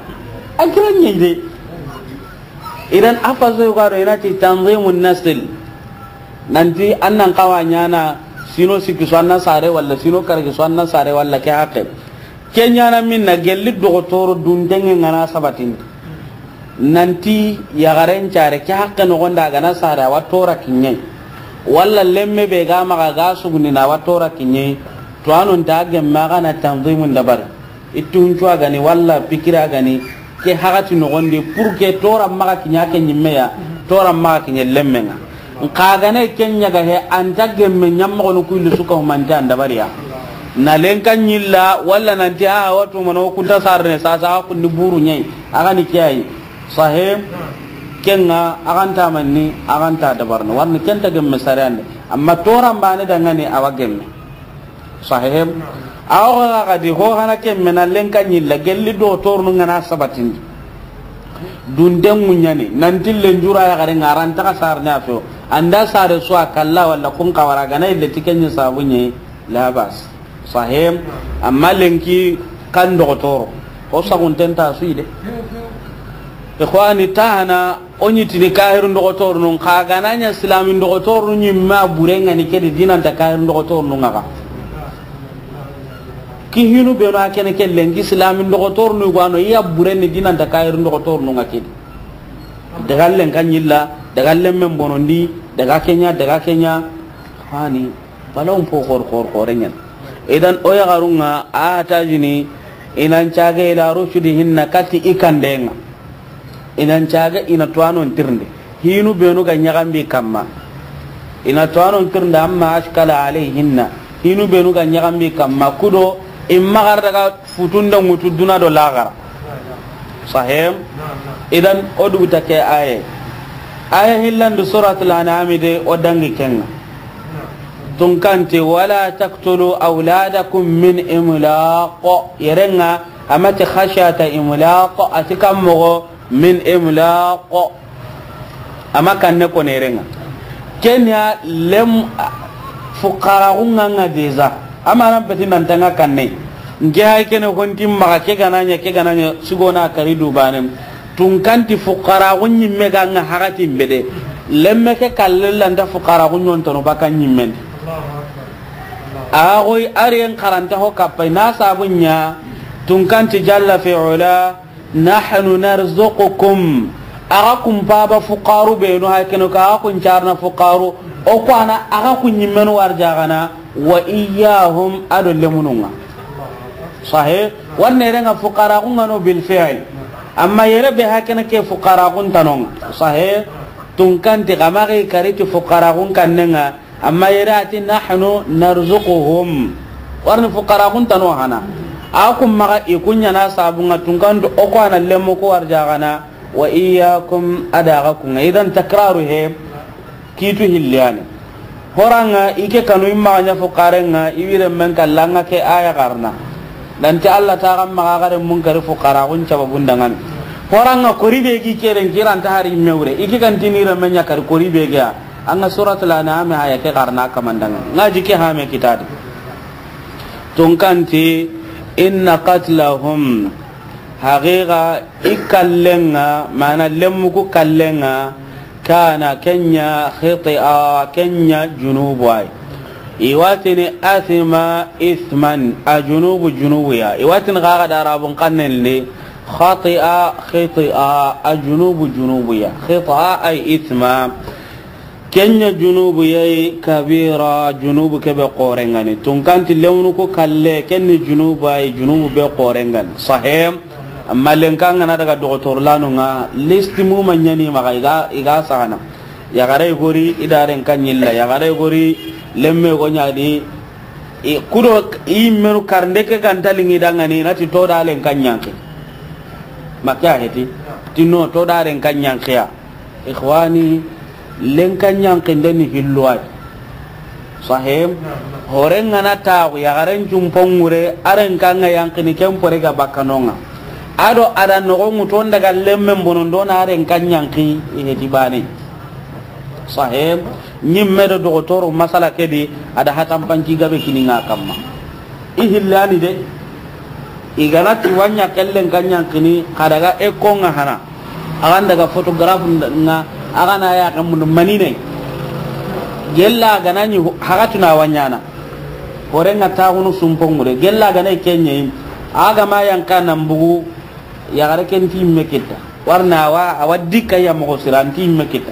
A kira ɲi de. Idan a faso ga do ina ti tanzimun nasl. Nanti annan kawa ɲana sino sikki so anna sare walla sino kargi so anna sare walla ke hakke. Ke ɲana minna gelli doxotoro dundenge ŋana sabatindi. Nanti yaxaren care ke hakke noxonda a gana sare a wa tora kiɲe. Walla lemme be ga maxa ga sugundina a wa tora kiɲe. Tuwaanun ta gemme a ga na tanzimun dabari. I tuncu a ga ni, walla pikiri a ga ni, ke hagati noxondi, pour que tooran maxa kiɲa ke ɲimme ya, tooran maxa kiɲa lemmen ŋa. Nxa a ga na ke ɲaga he, a nta gemme ɲammoxonu ku yilli su ka humante an dabari ya. Na lenka ɲilla, walla nanti, a, a wa tu mano, ku nta sarene, sasa, a kundi buru ɲa yi, a ga ni ke yi. Sahe, ken ŋa, a ga nta manni, a ga nta dabarini. Wari ni ken nta gemme sariyan di. Amma tooran baane da ŋa ni, a wa gemme. Sahe. A wo ga ga di, ho hana ke me na lenka ɲilla, gelli doxotorunu ŋa na sabatindi. Dunde ŋuɲani, nanti lenjura yaxare ŋa, a ra nta xa sarene a fe wo. A nda sare su a kalla, walla kun xa wara, a ga na yille ti ke ɲi sabu ɲi, la bas. Sahe. Amma lenki kan doxotoro, o saxunten ta su yi de. Ixwani, ta hana, o ɲi tini kahirin doxotorunun, xa ga na ɲa silamin doxotorunu ɲimme a bure ŋa ni ke di, di na nta kahirin doxotorunun ŋa xa. Ki hinu benu a kene ke lenki silamin doxotorunu ga no, i ya bure ni, di na nta kahirin doxotorunun ŋa ke di. Daga lenka ɲilla, daga lemmen bonondi, daga ke ɲa, daga ke ɲa. Hani, balawun po xor, xor, xore ɲan. Idan, o yaxarun ŋa, a tajini, i nan cage ila rushdihinna, kati i kanden ŋa. I nan cage, i na tuwanon tirindi. Hinu benu ga ɲaxambi kamma. I na tuwanon tirindi, amma ashkala alayhinna. Hinu benu ga ɲaxambi kamma. Kudo, i maxa ra daga futunde ŋutu duna do laxara. Sahem. Idan, o duguta ke aye. Aya hillandi Suratul An'ami de, o dangi ken ŋa. Tunkanti, "Wala taqtulu awladakum min imlaq." Yere ŋa, a ma ti khashyata imlaq, a ti kan moxo min imlaq. A ma kanne ko ne yere ŋa. Kenya lem fuqara ŋa ŋa déjà. Amanan peti nan tanga kanne. Nke hay kene honti maxa ke ga na ɲa, ke ga na ɲa, sigona kari dubanem. Tunkanti fuqara ŋu ɲimme ga ŋa hagati mbede. Lemme ke kalle lanta fuqara ŋu ɲontono baka ɲimmen. A goy ariyen karanta ho kappai na sabu ɲa. Tunkanti jalla fi ula, "Nahnu narzuqukum." Aga kun paba fuqaru benu, hay keno ka aga kun carna fuqaru. O ko ana aga kun ɲimmenu warjagana. "Wa iyyahum," ado lemununga. Sahe, wanne renga fuqara kun ŋa no bil fi'l. Amma yere be hakene ke fuqara kun tanonga. Sahe, tunkanti kamari kariti fuqara kun kannenga. Amma yere ati, "Nahnu narzuquhum." Warni fuqara kun tano hana. A kun maga i kun ɲana sabunga tunkanti o ko ana lemu ko warjagana. "Wa iyyakum," adaga kunga. Idan takraru he. Kitu hilliyani. Horanga ike kanu imma ɲa fuqarenga, iwire men kallanga ke aya garna. Nanti Allah ta gamma ga gare munkari fuqara kun caba bundangani. Horanga kori be gi keren kiranta hari mewre. Iki kan tinira men ɲa kari kori be ga. Anga Suratul An'am aya ke garna kamandanga. Ngaji ke hame kitadi. Tunkanti, "Inna qatlahum." Haqiqa i kallenga, mana lemmuku kallenga, kana kenya khiti'a, kenya junubu ay. Iwatini athima ithman, a junubu junubu ya. Iwatini gaga da arabun kannen li, khati'a khiti'a, a junubu junubu ya. Khiti'a ay ithma. Kenya junubu yayi kabira, junubu kebe qorengani. Tunkanti lewnu ko kalle, kenni junubu ay, junubu be qorengani. Sahem, amma lenka ngana daga doktor lanu nga, listi mu manyani maga iga, iga sagana. Yagare gori, idaren kanyilla, yagare gori, lemme go nyadi, i kudo i menu karnde ke gantalingi dangani, nati to da len kanyanki. Makya heti, tino to da len kanyankiya. Ikhwani, lenka ɲankinde ni hilluwai. Sahem, horen ngana taxu, yaxaren cumpon ŋure, aren kanga yankini ken pore ga bakkanonga. Ado ada noxo ŋuton daga lemmen bonondo na aren kan ɲanki, i heti bane. Sahem, ɲimme do dogotoro masala kedi, ada hatampanci gabe kininga kamma. I hillani de. I gana ti wanya kellen kan ɲankini, xa daga ekko nga hana. Agan daga photographe nga, agana ya kan mun manine. Gella gana ni hagatu na wanyana. Hore nga taxunu sumpongure. Gella gana kenye. Aga ma yanka nan bugu, yaxare ken ti me kita. Warna wa, awa dikka ya moxo sira, an ti me kita.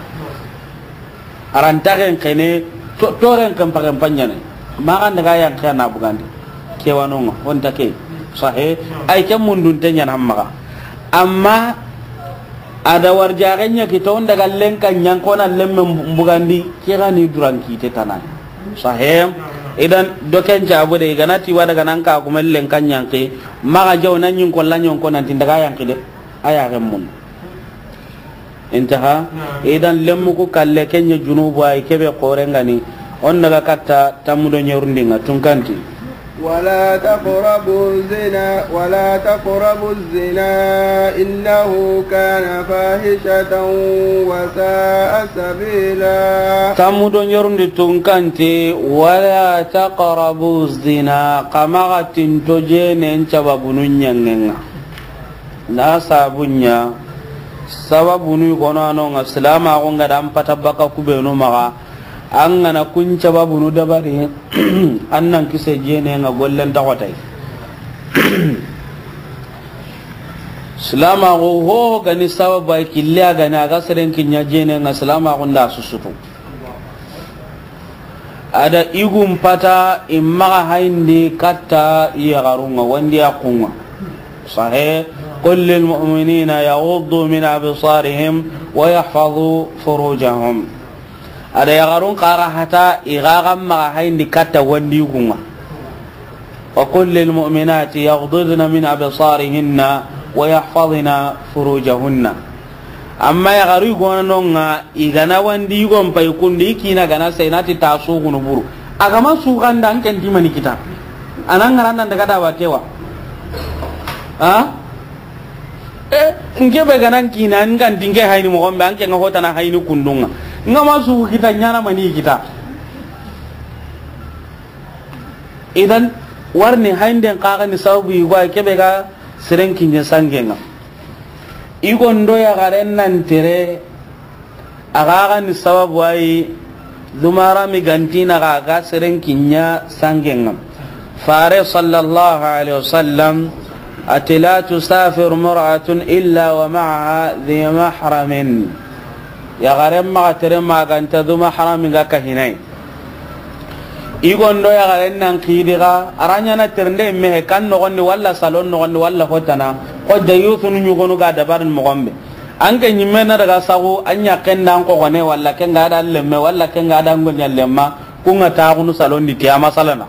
Arantaxen xene, to-, toren kan paxen paɲane. Maxan daga yan xena bugandi. Ke wa no ŋa, o nta ke. Sahe, ay ke mundunte ɲaana maxa. Amma a da warjaxe ɲa kita, o n daga lenka ɲankona lemme mbugandi, ke ga ni duran kite tana. Sahe, idan do ken jabu de, i ga na ti wa daga nan ka kuma lenka ɲanki, maxa jaw na ɲin kolla ɲonko nan ti n daga yanki de. A ya ga mun. Intaha. Naam. Idan lemmu ku kalle ke ɲa junubu ay ke be xore ŋa ni. O n daga katta tammu do ɲerundi ŋa tunkanti. ولا تقربوا الزنا، ولا تقربوا الزنا، إنه كان فاحشة وساء سبيلا. Tammu do ɲerundi tunkanti, ولا تقربوا الزنا, xa maxa tinto jenen sababunu ɲaŋen ŋa. Na sabu ɲa, sababunu i gono a no ŋa, silamaxu ŋa da an pata baka kubenu maxa, an ga na kun sababunu dabari, an nan kise jene ŋa gollen taxotay. Silamaxu ho ga ni sababu ay kille a ga ni a ga seren kiɲa jene ŋa, silamaxu nda susutu. A da i gun pata i maxa hayindi katta yaxarun ŋa, wandi a kun ŋa. Sahe, قل للمؤمنين يغضوا من أبصارهم ويحفظوا فروجهم. A da yaxarun xa ra hata i ga ga maxa hayindi katta wandi i kun ŋa. وقل للمؤمنات يغضضن من أبصارهن ويحفظن فروجهن. Amma yaxaru i gono no ŋa, i ga na wandi i gon pay kundu, i kina ga na sey na ti ta suxunu buru. A ga ma suxanda an ken ti mani kita. A na ŋaran nan daga da wa ke wa. Ha? E, n ke be ga nan kina, n ga n ti n ke hayini moxo be, an ke ŋa hotana hayini kundu ŋa. N ga ma suxu kita, ɲaana mani kita. Idan, warni haynden xa ga ni sababu i go ay ke be ga seren kiɲa sangen ŋa. I gondo yaxaren nan tere, a ga ga ni sababu ay, dumarami ga nti na ga ga seren kiɲa sangen ŋa. Fare sallallahu alaihi wasallam a ti, لا تسافر امرأة إلا ومعها ذي محرم. Yaxaren maxa tere ma ga nta du mahrami ga kahinay. I gondo yaxaren nan xidi ga, a ra ɲaana terende mehe kan noxondi, walla salon noxondi, walla hotana. Xo dayusunu ɲugonu ga dabarin moxon be. An ke ɲimme na daga saxu, an ɲaxen da an xoxone, walla ken ga da lemme, walla ken ga da ngoɲa lemma, kun ŋa taxunu salon di ti a masalana.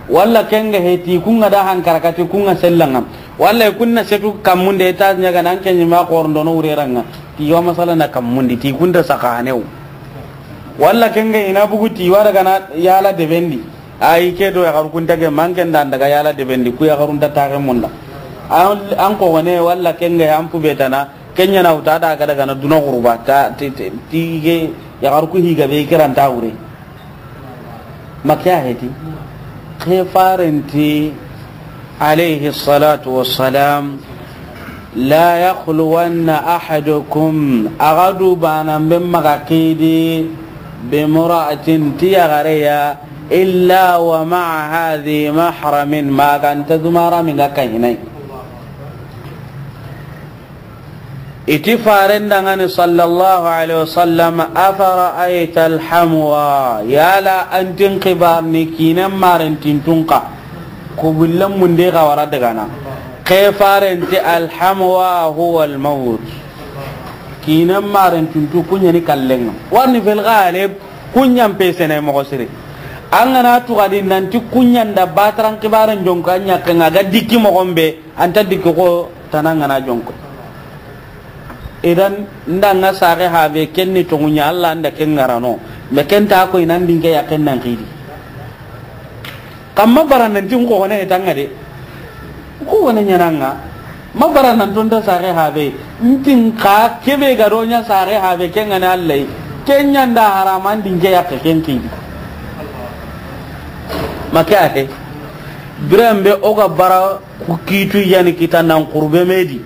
Walla ken ga heti, kun ŋa da hankarakati, kun ŋa sellan ŋa. Walla kun na setu kammunde, ta ɲaga nan ke ɲima xorondo no wureran ŋa. Ti yo masalana kammundi, ti kun da saxanew. Walla ken ga ina bugu ti wara ga na yala debendi. Ayi ke do yaxaru kun ta ge manken da daga yala debendi, ku yaxarun ta taxe munda. An, an xoxone walla ken ga an pubetana, ken ɲa na wuta da ga daga na duna xuruba, ta, ti, ti, ti ge yaxaru ku higa be kiran ta wure. Ma ke ya heti. Ke faren ti, alayhi salatu wassalam, لا يخلون أحدكم, a ga du banan be maxa xidi, بامرأة, ti yaxare ya, إلا ومعها ذي محرم, ma ga nta du mahrami ga kahinay. I ti faren da ŋa ni sallallahu alaihi wasallam, أفرأيت الحموى, yala an ti n xibarni kinen maren tintun xa, ku billen munde ga wara daga na. Ke faren ti, الحموى هو الموت. Kinen maren tintu ku ɲa ni kallen ŋa. Warni fil ghalib, ku ɲa n pesene moxo siri. An ga na tuxadi nan ti ku ɲa n da bataran xibaren jonko a ɲaxen ŋa ga dikki moxon be, an ta dikki xo tana n ga na jonko. Idan, n da ŋa saxe habe ken ni tonŋu ɲa, Alla n da ken ŋarano. Me ken ta ko i nan dinke ya ken nan xidi. Kamma bara nan ti n xoxone hetanga de. Xoxone ɲaana ŋa. Ma bara nan to n da saxe habe. N ti n xa ke be ga do ɲa saxe habe ken ŋa ni Alla yi. Ken ɲa n da harama n dinke ya ken xidi. Ma ke ya ke. Biran be o ga bara Ku kitu yani kita nan xurbe me di.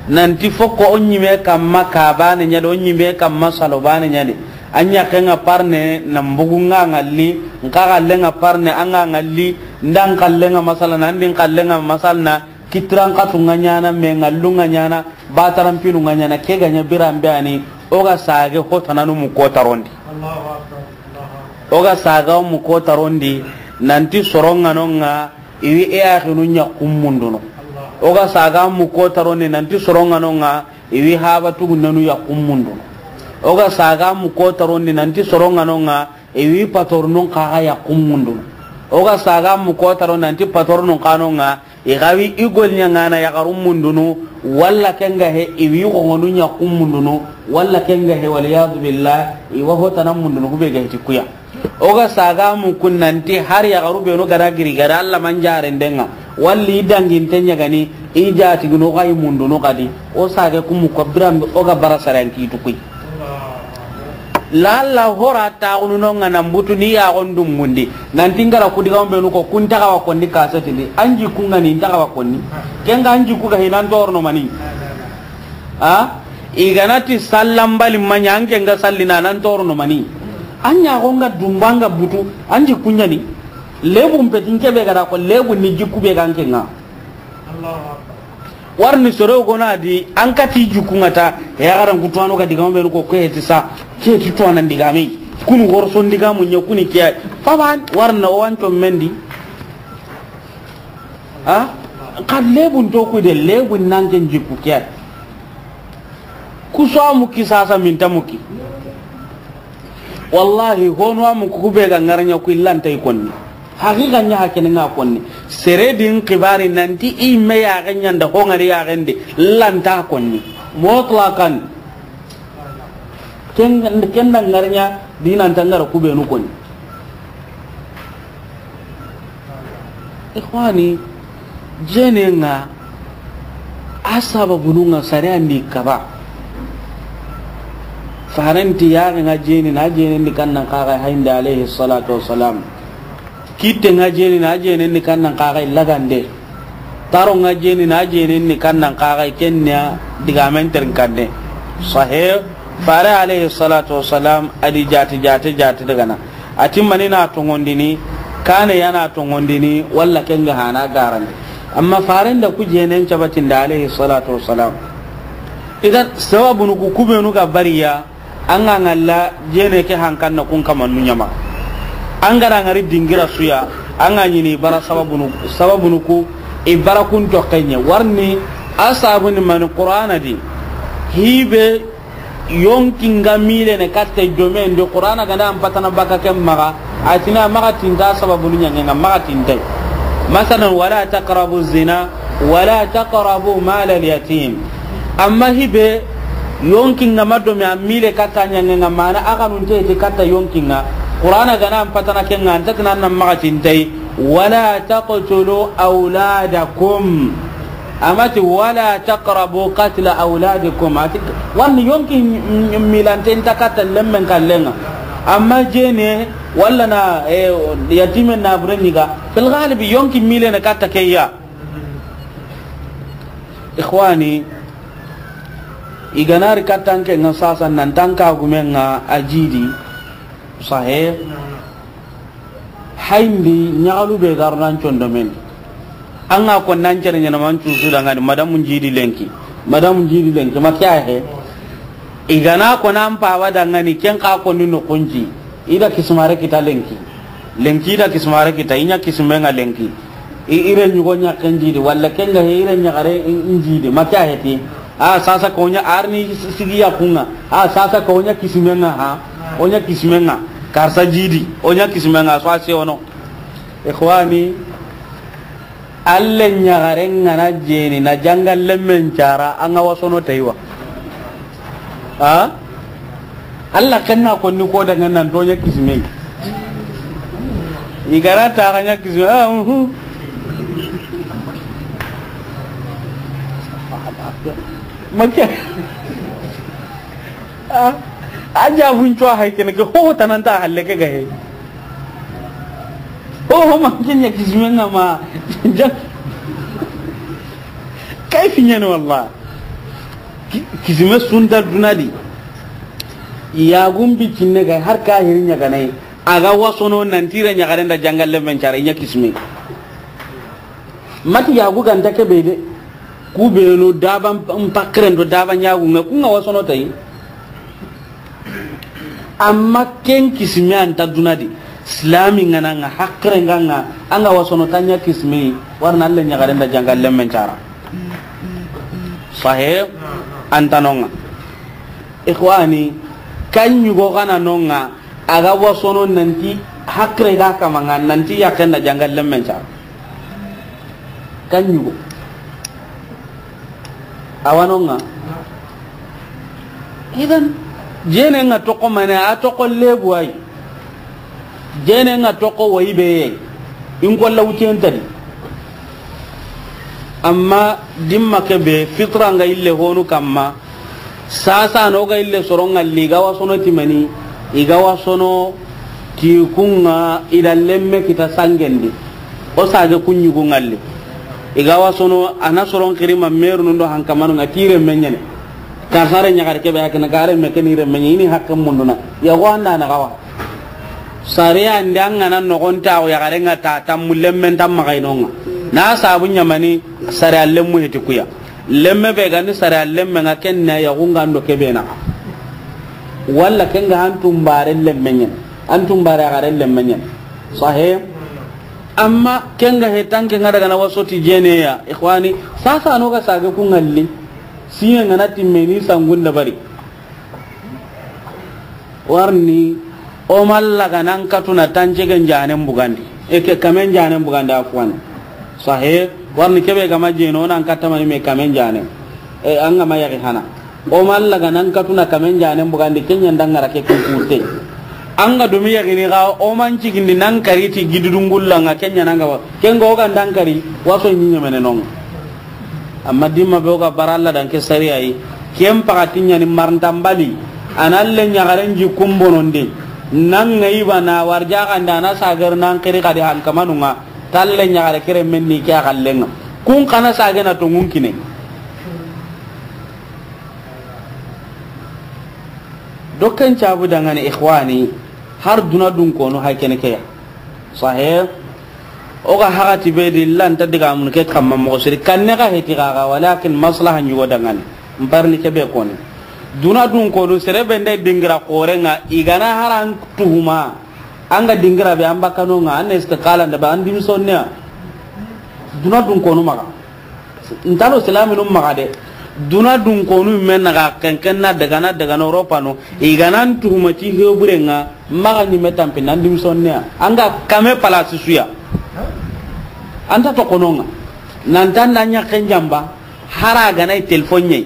Nan ti fokko o ɲime kamma ka bane ɲa de, o ɲime kamma salo bane ɲa de. A ɲaxen ŋa parne, nan bugu ŋa ŋalli, n xa xallen ŋa parne, a ŋa ŋalli, n da n xallen ŋa masala na, n di n xallen ŋa masala na, kitiran xatu ŋa ɲaana, me ŋallu ŋa ɲaana, bataran pinu ŋa ɲaana, ke ga ɲa biran be ani, o ga sage hotananu mu ko tarondi. O ga saga mu ko tarondi, nan ti soron ŋa no ŋa, I wi i yaxinu ɲaxun mundunu. O ga saga mu ko tarondi nanti soronŋa no ŋa, i wi haba tugunnanu yaxun mundunu. O ga saga mu ko tarondi nanti soronŋa no ŋa, i wi patornun xa ga yaxun mundunu. O ga saga mu ko tarondi nanti patornun xa no ŋa, i ga wi i golɲaŋana yaxarun mundunu, walla ken ga he i wi xoŋonu ɲaxun mundunu, walla ken ga he, waliyadu billah, i wa ho tana mundunu, ku be ga hiti ku ya. O ga saga mu kun nanti har yaxaru benu ga da giri ga da Alla manjaren denŋa, walli i danginte ɲagani, i jatiginu xa i mundunu xadi, o sage ku mu ko biranbe o ga bara saran kitu kuyi. Lalla hora taxunu no ŋa nan butu ni yaxon dumbundi, nanti n ga ra ku digamu benu ko kun taxawa konni kasetindi, an jikku ŋa ni n taxawa konni, ken ga an jikku ga hinan torono mani. A, i ga na ti sallanbali ma ɲa, an ke n ga sallina nan torono mani. An ɲaxo n ga dumba n ga butu, an jikku ɲa ni. Lebun peti n ke be ga da ko, lebun ni jikku be ga n ke ŋa. Warini soro gona di, an kati jikku ŋa ta, yaxaran ku tuwano ga digamu benu ko, ke ti sa, ke ti tuwanan digame. Kunu worson digamu ɲa kuni ke. Faban, warini o wanco mendi. A? Xa lebun to ku de, lebun nan ken jikku ke. Ku so a muki sasa, minta muki. Wallahi, hono a muku ku be ga ŋaraɲa ku, i lanta i konni. Haqiqa ɲa ha kene ŋa konni. Sere di n xibari nanti i me yaxe ɲa nda ho ŋari yaxen di, lanta konni. Mutlaqan. Ken, ken da ŋaraɲa di nan ta ŋara ku benu konni. Ikhwani, jene ŋa, a sababunu ŋa sare andi kaba. Farenti yaxe ŋa jeni na, jeni ndi kannan kaga hayndi alayhi salatu wassalam. Kitte ŋa jeni na, jeni ndi kannan kaga lagande. Taro ŋa jeni na, jeni ndi kannan kaga kenya digamen ternkande. Sahih. Fare alayhi salatu wassalam, a di jati, jati, jati daga na. A ti mani na tongondini, kane ya na tongondini, walla ken ga hana garandi. Amma faren da ku jenen cabatinda alayhi salatu wassalam. Idan, sababunu ku kubenu ga bariya, an ga ŋalla jene ke hankan na kun kamannu ɲama. An ga ra ŋari dingira suya, an ga ɲini bara sababunu, sababunu ku, i bara kun to kenye. Warni, a sabuni mani Qur'ana di. Hibe, yonki nga mile ne katta domen do Qur'ana ganda an patana baka ken maga, a tina maga tinta sababunu ɲange nga maga tintai. Masalan, wala taqrabu zina, wala taqrabu mal al yatim. Amma hibe, yonki nga ma dome an mile katta ɲange nga mana a kanunte ti katta yonki nga. Qur'ana ganda an patana ken nga, an ta tina nan maga tintai. Wala taqtulu awladakum. Amati, "Wala taqrabu qatla awladikum." Ati, wani yonki m-, m-, milanten ta katta lemmen kallenga. Amma jene, walla na, eh, yatimen na bure ɲiga. Fil galibi, yonki mile na katta keya. Ikhwani, i ga na ri kattanke nga sasa nan tanka gumen nga a jidi. Sahih. Hayndi ɲagalu be garu nan condo men. An ga ko nan cere ɲana man cusu dangani madamu jidi lenki. Madamu jidi lenki, ma kya he? I ga na ko nan pawa dangani ken ka ko ni no konji. I da kismare kita lenki. Lenki i da kismare kita, i ɲa kismenga lenki. I, i re ɲugo ɲa ken jidi, walla ken ga he i re ɲagare i, i jidi, ma kya he ti? A, sasa ko ɲa arni sigi ya kunga. A, sasa ko ɲa kismenga ha. O ɲa kismenga. Karsa jidi, o ɲa kismenga, so a se ono. Ikhwani, alle ɲagare nga na jeni, na jangal lemmen cara, anga wasono taiwa. A? Alla ken na ko ni ko daga nan to ɲa kisme. I ga ra ta ga ɲa kisme. A, uhu. Ma kya? A, a jabun cuwa hay kene ke ho tananta halle ke ga he. Ho, ho ma ken ɲa kisme nga ma. Ja-, kay fi ɲene wallah. Ki-, kisime sunta duna di. Yaagun bi kinne ga har ka hiri ɲaganai. A ga wasono nan tira ɲagaren da jangal lemmen cara i ɲa kisime. Mati yaagu ganta ke be de. Ku benu daba mpakiren do daba ɲaagu nga ku nga wasono tai. Amma ken kisime anta duna di. Islami ŋa na ŋa, hakkire ŋa ŋa, an ga wasono tanya kismi, warna Alla ɲaxaren da janga lemmen cara. Sahe, antanonga. Ikhwani, kan ɲugo gana nonga, a ga wasono nanti hakkire ga kamaŋa, nanti yakken da janga lemmen cara. Kan ɲugo. Awanonga. Idan, jene ŋa toko mane, a toko lebu ay. Jene ŋa toko wayi be ye. In ko lawtiyen tadi. Amma dimma ke be fitra ŋa ille honu kamma. Sasa no ga ille soron ŋalli, i ga wasono timani, i ga wasono ti kunŋa i da lemme kita sangendi. O sage kun ɲugu ŋalli. I ga wasono a na soron xiri ma meru nundo hankamanu ŋa tire menyene. Kasare ɲaxare kebe hakina gare me keni re menye ini hakke munduna. Ya wanda na gawa. Sariya ndi an ga na nogonta o yaxare ŋa ta tammu lemmen tamma gainonga. Na sabu ɲamani sariya lemmu heti kuya. Lemme be gani sariya lemme ŋa kenna yaxu ŋa ndo kebe na. Walla kenga antum bare lemmenyen. Antum bare yaxare lemmenyen. Sahe. Amma kenga he tanke ŋa daga na wasoti jene ya. Ikhwani, sasa no ga sage ku ŋalli. Siye ŋa na timmeni sangun dabari. Warni, o malla ga nan katuna tanjegen janen bugandi. E ke kamen janen bugandi, afwan. Sahe, warni kebe ga ma jeno nan katamani me kamen janen. E, an ga ma yaki hana. O malla ga nan katuna kamen janen bugandi, kenya ndangara ke kun kurte. An ga dumi yaki ni ga, o man cigindi nan kari ti gidudungulla ŋa kenya nan ga wa. Kenga o ga ndan kari, waso nyinya mene non. Amma dimma be o ga bara Alla dan ke sariya yi. Ken pakati ɲani marntambali. A na le ɲaxaren ji kumbononde. Nan ŋa i ba na warja ganda na sagar nan xiri kadi hankamanu ŋa. Talle ɲaxare kere menni ke a xallenga. Kun kana sagena to ŋun kine. Dokken cabu dangane, ikhwani, har duna dun konu hay kene ke ya. Sahe. O ga hagati be di lanta diga mun ke kamma moxo siri kanne ga heti gaga, walakin maslaha ɲugo dangane. Mbarni ke be koni. Duna dun konu sere be nda dingira xorenga, i ga na haran tuhuma. An ga dingira be an bakano ŋa, an istiqala nda ba an dimsonne. Duna dun konu maga. Ntalo silaminun maxa de. Duna dun konu men naxa kenken na daga na daga na Europa no. I ga nan tuhuma ti heburenga maxa ɲime tampi nan dimsonne ya. An ga kame palasi suya. Anta to kononga. Nan tan da ɲaken jamba. Hara ga na telefon ɲe.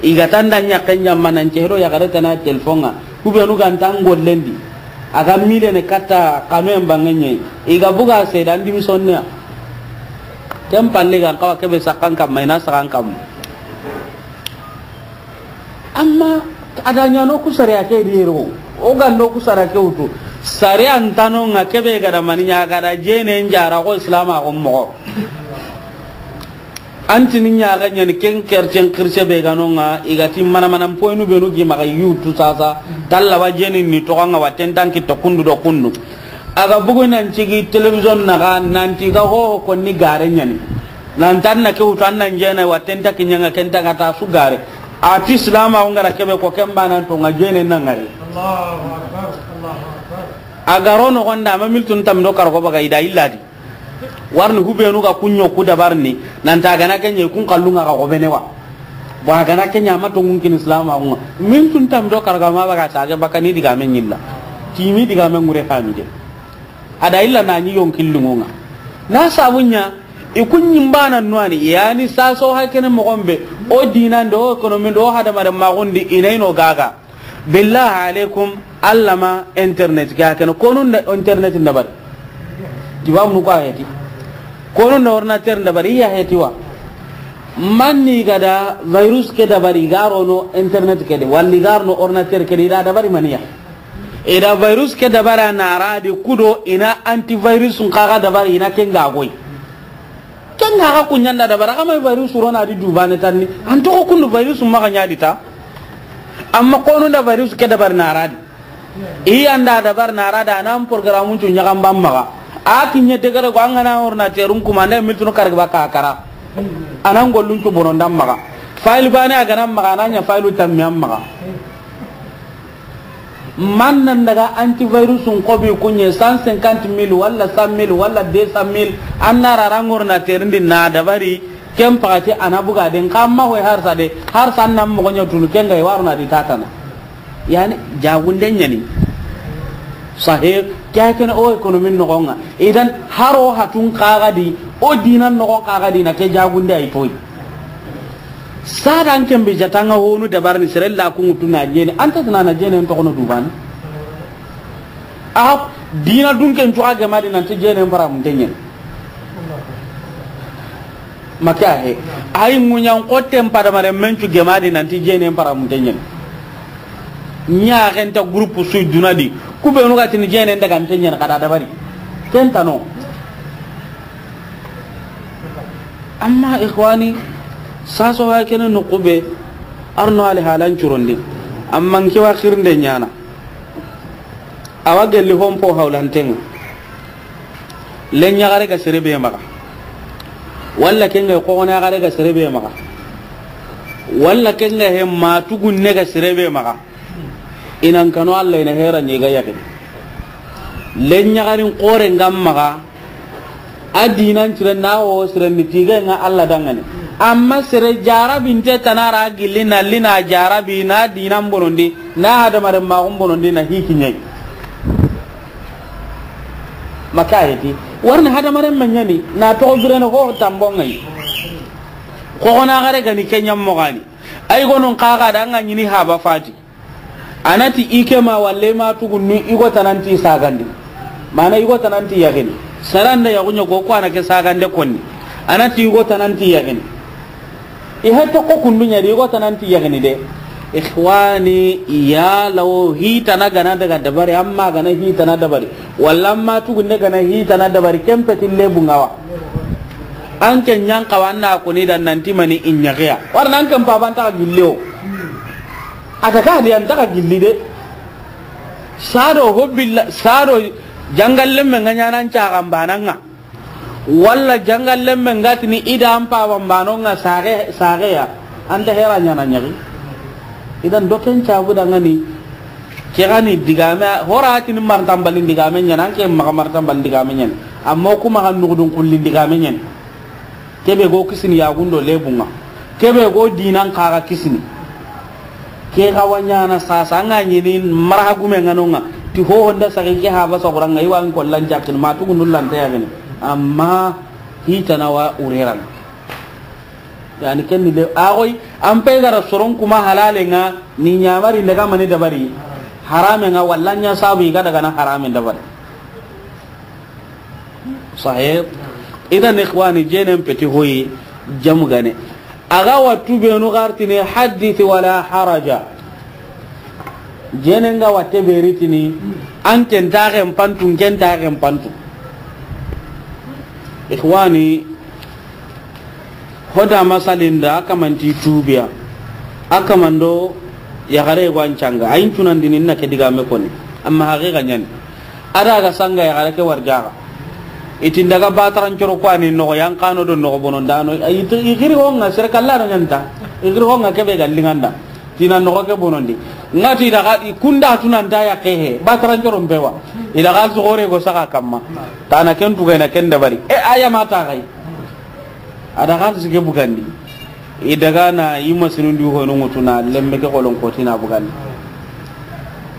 I ga tan da ɲaken jamba nan cehdo ya gare tana telefon ŋa. Kubenu ga ntan gollendi. A ga mile ne katta kame bangenye. I ga buga se dan dimsonne ya. Ken palle ga n xawa kebe sakan kamma, i na sakan kamma. Amma a da ɲano ku sariya ke di yero. O ga ndo ku sariya ke wutu. Sariya ntano ŋa kebe ga da mani ɲa ga da jene njara ko Islam a ko moxo. An tini ɲaga ɲani ken kercen kirse be ga no ŋa, i ga ti mana mana poinu benu gi maxa yutu sasa. Talla wa jeni ni toxo ŋa wa tentan ki to kundu do kundu. A ga bugu nan cigi television naxa, nanti ga ho ko ni gare ɲani. Nan tan na ke wutu an nan jena wa tenta ki ɲanga kenta ga ta su gare. A ti Islam a ngara kebe ko ken banan to ŋa jene na ŋari. Allahu Akbar, Allahu Akbar. A ga ro no gonda ma miltun tam do kar ko baga i da illadi. Warni hubenu ga kunyo ku dabarni, nanta gana kenye kun kallunga ga gobene wa. Bo gana kenya ma to ngun kin Islam a ngun. Min tun tam do karga ma baga sage bakani diga men nyilla. Timi diga men ngure hamide. A da illa na ni yon killunga. Na sabunya i kun nyimbana nwani, yani saso hakene mo gombe. O dinan do, o kono min do, o hadama da magundi inaino gaga. Billahi alaikum, Alla ma internet ke a kene, konun da internet dabari. Tiwa mu ko a heti. Konun da ordinateur dabari, iya heti wa. Manni ga da virus ke dabari, ga ro no internet ke de, walli ga ro no ordinateur ke de, i da dabari maniya. I da virus ke dabara na ra di kudo, i na antivirus nkaga dabari, i na kenga goy. Ken ga ga kunyanda dabara, kama virus ro na di dubane tanni. An to ko kundu virus maxa ɲa di ta. Amma konu da virus ke dabar na ra di. I anda dabar na ra da nan programme tu ɲaga mbamma ga. A kinye degere ko an ga na ordinateur un kuma nda miltunu karga ba ka kara. Anan gollun tu bonon dam maga. File bane a ga nan maga, nan ɲa file tammi an maga. Man nan daga antivirus n xobi kuɲe cent cinquante mille walla cent mille walla deux cent mille, an na ra rangor na terindi na dabari, ken paxati a na buga den xa ma hoy harsa de, harsa an na moxo ɲa tunu ken ga i waro na di tatana. Yani, jagunde ɲani. Sahe, ke a kene o économie noxon ŋa. Idan, haro hatun xa ga di, o dinan noxon xa ga di na ke jagunde ay toy. Sada an ken be jatanga honu dabarni sere la ku ŋutu na jene, an ta tana na jene n toxono dubani. A dina dun ken cuxa gemadi nanti jene n para mun tenyen. Maka he. Ay ŋuɲan xotten padamare men cu gemadi nanti jene n para mun tenyen. Ɲa xenta groupe su duna di. Ku be nu ga tini jene n daga n tenyen kada dabari. Ken tano. Amma ikhwani, saso wa kene no kube, arno ali halan curondi. Amma n ke wa xirnde ɲana. Awa gelli hompo hawlanten ŋa. Len ɲaxare ga sere be maxa. Walla ken ga xoxone yaxare ga sere be maxa. Walla ken ga he ma tugunne ga sere be maxa. I nan kano Allah i na hera ɲi ga yaxini. Len ɲaxarin xore n ga maxa. A dinan cire na wo sire ni tige ŋa Allah dangani. Amma sere jarabinte tanara gilli na lina jarabi na dinan bonondi, na hadamaren maxun bonondi na hiki ɲai. Maka heti, warni hadamaren ma ɲani, na toxo birene ho tambon ŋa yi. Xoxona xare gani ke ɲammoxani. Ay gonon xaxa da ŋa ɲini haba fati. A na ti i ke ma walle ma tugunnu i go tananti sagandi. Mana i go tananti yaxini. Saranda yaxuɲa go ko a na ke sagande konni. A na ti i go tananti yaxini. I hete ko kundu ɲa di i go tananti yaxini de. Ikhwani, ya lawo hitana gana daga dabari, amma gana hitana dabari. Walla amma tugunne gana hitana dabari, ken peti lebu ŋa wa. An ke ɲan xawa an na koni da nanti mani i ɲaxiya. Wara nan ken paban ta gilli o. A ta ka di an ta ka gilli de. Sado hobbilla, sado jangalle men ŋa ɲanan caxan banan ŋa. Walla jangalle men ŋa tini i da an paban banon ŋa sage, sage ya. An ta hera ɲana ɲaxi. Idan doken cabu dangani. Ke gani digame, hora tini martambalin digame ɲana, an ke maxa martambalin digame ɲana. Amma kuma xa nugudun kullin digame ɲana. Kebe go kisini yagundo lebunga. Kebe go dinan xaga kisini. Ke ga wanyana sasa nga nyini marha gume nganonga. Ti ho honda sagi ke haba saguranga iwa n kollan jakin ma tugundu lanta yagini. Amma hitana wa ureran. Yani kenni le agoy an pe gara soron kuma halale nga ni nyamari daga mani dabari. Harame nga wallanya sabu iga daga na harame dabari. Sahih. Idan ikhwani, jenen peti hoyi jamu gane. Aga wattu benu gartini haddith wala haraja. Jenen ga watte beritini an ken taxen pantu, ken taxen pantu. Ikhwani, hoda masalinda a kamanti tubiya. A kamando yaxare go an canga. Ayin cunandini na ke digame koni. Amma haqiqa ñani. Ada ga sanga yaxare ke warjaxa. Itin daga bataran coro ko ani noxo yan kano do noxo bonon dano. Igiri honga sere kallano ñanta. Igiri honga kebe ga linganda. Tina noxo ke bonondi. Ngati daga i kunda tunanta ya kehe. Bataran coro mpewa. I daga su gore go saka kamma. Tana ken tugayna ken dabari. E aya mata gai. A da xalisi ke bugandi. I daga na i masinundi hono ŋutuna lemme ke xolon kotina bugandi.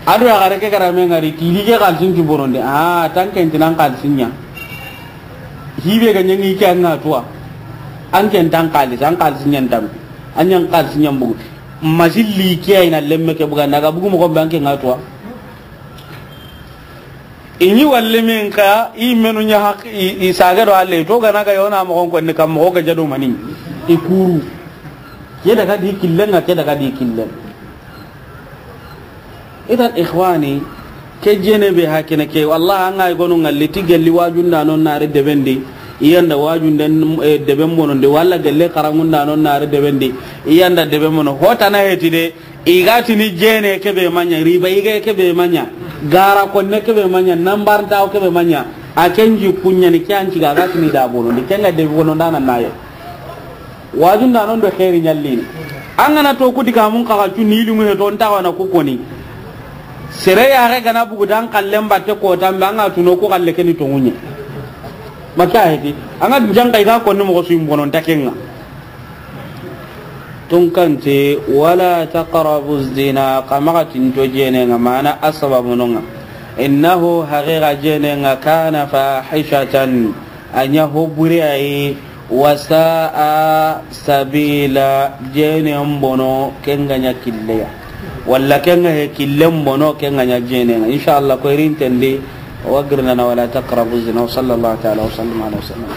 A do yaxare ke garame ngari tili ke xalisin ti bonondi. A tan ken tinan xalisin ña. Hibe ga ñangi ke an ŋa tuwa. An ken tan xalis, an xalisin ñan tampi. An ñan xalisin ñan bugu. Masilli ke ayna lemme ke bugandi. A ga bugu moxo be an ken ŋa tuwa. I ñi walle min ka, i menu ña haq, i, i sage do alle, to gana ga yona moxon ko ni kam moxo ga jado mani. I kuru. Ke daga di killen ŋa, ke daga di killen. Idan ikhwani, ke jene be hakene ke, wallahi an ga gonu ngalli ti gelli wajunda non nare debendi, i yanda wajunden, eh, deben bonondi, walla gelle karangunda non nare debendi, i yanda deben bono. Hota na heti de, I ga tini jene kebe maña, riba ige kebe maña, gara konne kebe maña, nambarntawo kebe maña, a ken ji kuñani ke an ciga ga tini da bono, ndi kenga de bono ndana naye. Wajunda non do xeeri ñallini. An gana to ku diga mun kaxa cu ni limu he to nta wana ku koni. Sere yaxe ga na bugu dan xallen batte kotan be, an ga tuno ku xalle ke ni tonŋu ɲa. Maka heti, an ga jan kay ga konni moxo su yi n bono nta ken ŋa. Tunkanti, wala taqrabu zina, xa maxa tinto jene ŋa, mana a sababu no ŋa. Innahu, haqiqa jene ŋa, kana fahishatan, a ɲa ho bure a yi, wa sa'a sabila, jene n bono, ken ga ɲa killeya. Walla ken ga he killen bono, ken ga ɲa jene ŋa. Inshallah, ko irin tendi, wa girnana wala taqrabu zina, wa sallallahu ta'ala wa sallam ala wa sallam.